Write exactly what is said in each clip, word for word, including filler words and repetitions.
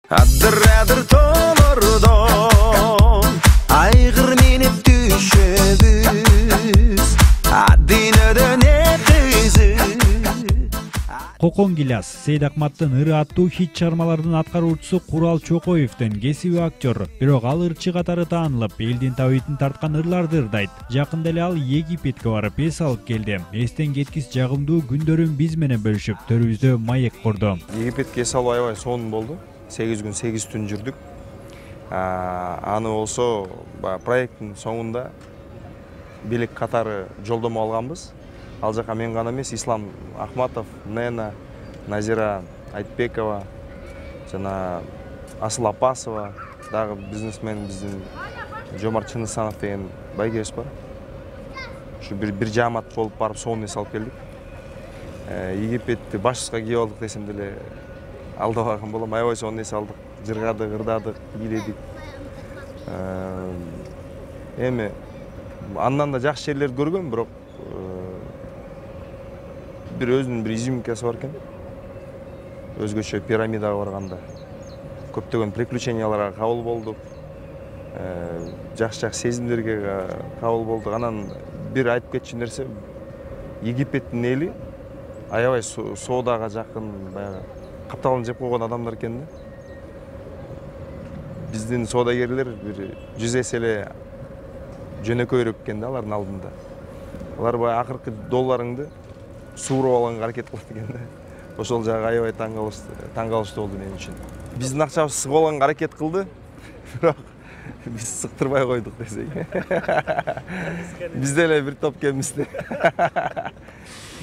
Адыр-адыр тоолордон айгыр менеп түшөбүз, адинөдөн экизы. Кокон Гиляс Сейд Акматтын ыры аттуу хит чыгармалардын аткаруучусу Курал Чокоевдин кесиби актер, бирок ал ырчы катары таанылып, элдин табитин тарткан ырларды ырдайт. Жакында эле ал Египетке барып эс алып келди. Эстен кеткис жагымдуу күндөрүн биз менен бөлүшүп, төрүбүздө маек курду. Египетке эс алуу аябай сонун болду. сегиз күн сегиз түн жүрдүк. Аны болсо проекттин соңунда бийлик катары жолдомо алганбыз. Ал жака мен гана эмес, Ислам Ахматов, Нена, Назира Айтбекова, жана Асыл Апасова, дагы бизнесмен биздин Жомарт Чынысанов деген байгебиз бар. Ушу бир бир жаамат болуп барып сонун эс алып келдик. Египетти башыбызга кийип алдык десем деле алдабаган болом. Аябай сонун эс алдык, жыргадык, ырдадык, бийледик. Эми андан да жакшы жерлерди көргөм, бирок бир өзүнүн бир изюминкасы бар экен. Өзгөчө пирамидага барганда көптөгөн приключенияларга кабыл болдук. Жакшы-жакшы сезимдерге кабыл болдук. Анан бир айтып кетчү нерсе, Египеттин эли аябай соодага жакын, баягы капталын жеп койгон адамдар экен да. Биздин соодагерлер бир жүз эсе эле жөнөкөйрөөк экен да алардын алдында. Алар баягы акыркы долларыңды сууруп алганга аракет кылат экен да. Ошол жагы аябай таң калыштуу болду мен үчүн. Биздин акчабыз сыгып алганга аракет кылды, бирок биз сыктырбай койдук десек. Биз деле бир топ экенбиз да.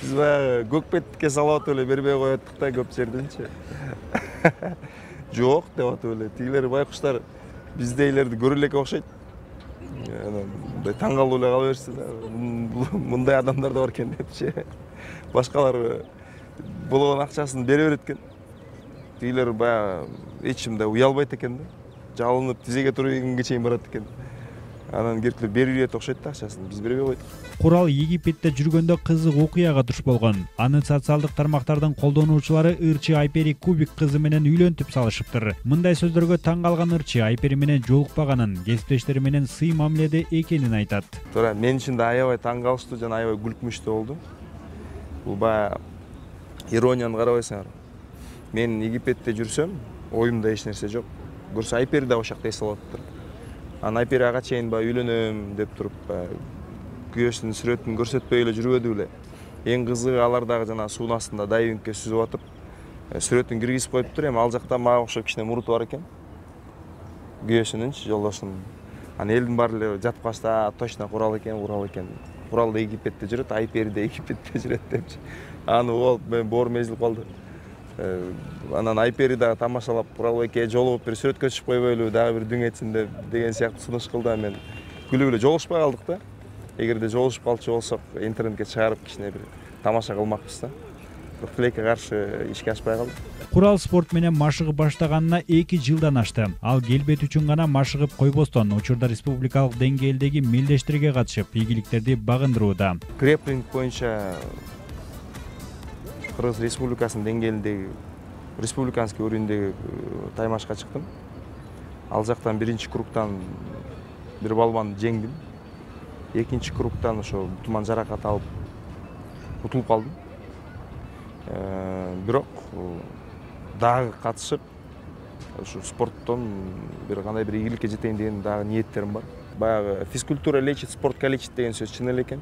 Биз баягы көкпетке салып атып эле бербей коеттук да көп жерденчи. Жок деп атып эле. Тигилер байкуштар биздейлерди көрө элекке окшойт. Мындай таң калып эле кала беришти да. Мындай адамдар да бар экен депчи. Башкалар болгон акчасын бере берет экен. Тигилер баягы эч ким да уялбайт экен да. Жалынып тизеге туруп ийгенге чейин барат экен. Анан керектелер берип ийет окшойт да акчасын. Биз бербей койдук. Курал Египетте жүргөндө кызык окуяга туш болгон. Аны социалдык тармактардын колдонуучулары ырчы Айпери Кубик кызы менен үйлөнтүп салышыптыр. Мындай сөздөргө таң калган ырчы Айпери менен жолукпаганын, кесиптештери менен сый мамиледе экенин айтат. Туура, мен үчүн да аябай таң калыштуу жана аябай күлкүмүштүү болду. Бул баягы иронияны карабайсыңар. Мен Египетте жүрсөм, оюмда эч нерсе жок. Көрсө Айпери да ошол жакта эс алып атыптыр. Анан Айпери ага чейин баягы үйлөнөм деп туруп, күйөөсүнүн сүрөтүн көрсөтпөй эле жүрбөдү беле. Эң кызыгы алар дагы жана суунун астында дайвингке сүзүп атып, сүрөтүн киргизип коюптур. Эми ал жакта мага окшоп кичине муруту бар экен. Күйөөсүнүнчү, жолдошунун. Анан элдин баары эле жатып калышты, точно Курал экен, Курал экен. Курал да Египетте жүрөт, Айпери да Египетте жүрөт депчи. Аны болуп мен боорум эзилип калды. Анан Айпери да тамашалап, Куралбекке жолугуп бир сүрөткө түшүп койбойлу, дагы бир дүң этсин деп деген сыяктуу сунуш кылды. Мен күлүп эле жолугушпай калдык да. Эгерде жолугушуп калчу болсок, интернетке чыгарып кичине бир тамаша кылмакпыз да. Бирок тилекке каршы ишке ашпай калды. Курал спорт менен машыгып баштаганына эки жылдан ашты. Ал келбет үчүн гана машыгып койбостон, учурда республикалык деңгээлдеги мелдештерге катышып, ийгиликтерди багындырууда. Грэпплинг боюнча Кыргыз Республикасынын деңгээлиндеги, республиканский уровеньдеги таймашка чыктым. Ал жактан биринчи кругтан бир балбанды жеңдим. Экинчи кругтан ошо туман жаракат алып утулуп калдым. Бирок дагы катышып, ушу спорттон бир кандай бир ийгиликке жетейин деген дагы ниеттерим бар. Баягы физкультура лечит, спорт калечит деген сөз чын эле экен.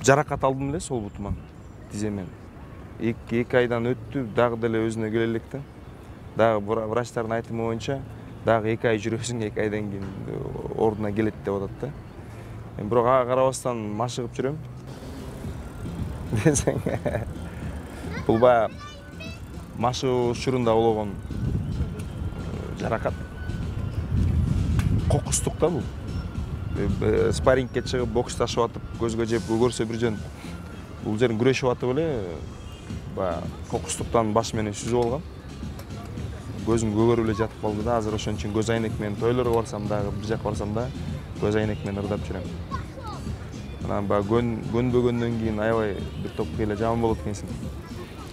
Жаракат алдым эле сол бутуман, тиземен. эки айдан өттү, дагы деле өзүнө келе элек да. Дагы врачтардын айтымы боюнча, дагы эки ай жүрөсүң, эки айдан кийин ордуна келет деп атат да. Мен бирок ага карабастан машыгып жүрөм. Десең, бул баягы машыгуу учурунда болгон жаракат. Кокустук да бул. Спаррингке чыгып, боксташып атып, көзгө жеп көрсө бир жөн. Бул жерин күрөшүп атып эле, баягы кокустуктан баш менен сүзүп алгам. Көзүм көгөрүп эле жатып калды да. Азыр ошон үчүн көз айнек менен тойлорго барсам дагы, бир жака барсам да, көз айнек менен ырдап жүрөм. Анан баягы көнбөгөндөн кийин аябай бир топ эле жаман болот экенсиң.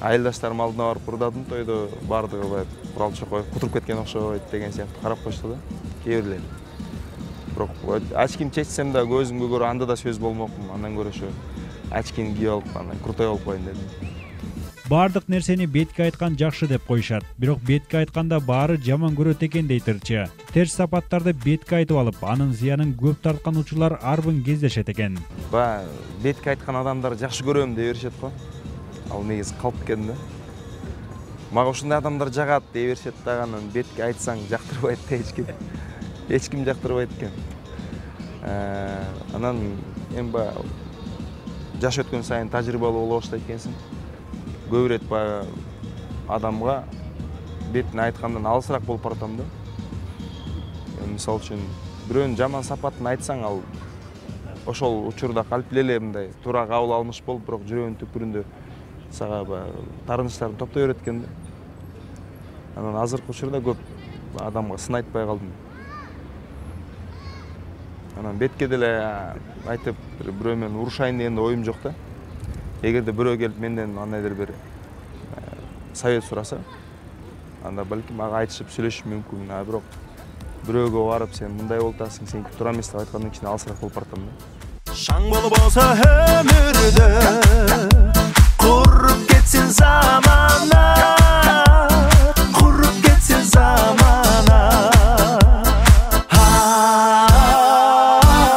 Айылдаштарым алдына барып ырдадым тойдо, бардыгы баягы Курал Чокоев кутуруп кеткен окшойт деген сыяктуу карап коюшту да, кээ бирлери. Бирок очким чечсем да көзүмгө көрө анда да сөз болмокмун, андан көрө ошо очкини кийип алып, анан крутой болуп коеюн дедим. Бардык нерсени бетке айткан жакшы деп коюшат, бирок бетке айтканда баары жаман көрөт экен дейт ырчы. Терс сапаттарды бетке айтып алып, анын зыянын көп тарткан учурлар арбын кездешет экен. Баягы бетке айткан адамдарды жакшы көрөм дей беришет го. Ал негизи калп экен да. Мага ушундай адамдар жагат дей беришет да, анан бетке айтсаң жактырбайт да эч ким. Эч ким жактырбайт экен. Анан эми баягы жаш өткөн сайын тажрыйбалуу боло баштайт экенсиң. Көп ирет баягы адамга бетин айткандан алысыраак болуп баратам да. Мисалы үчүн бирөөнүн жаман сапатын айтсаң, ал ошол учурда калп эле мындай туура кабыл алмыш болуп, бирок жүрөгүнүн түпкүрүндө сага баягы таарынычтарын топтой берет экен да. Анан азыркы учурда көп адамга сын айтпай калдым. Анан бетке деле айтып бирөө менен урушайын деген оюм жок да. Эгерде бирөө келип менден андайдыр бир совет сураса, анда балким ага айтышып сүйлөшүш мүмкүн. А бирок бирөөгө барып сен мындай болуп атасың, сен туура эмес деп айткандан кийин алысыраак болуп баратам да. Шаң болуп болсо өмүрдө куруп кетсин замана, куруп кетсин замана.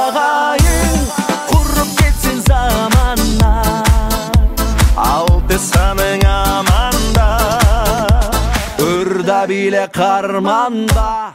Агайын куруп кетсин замана, алты саның аманда, ырда биле карманда.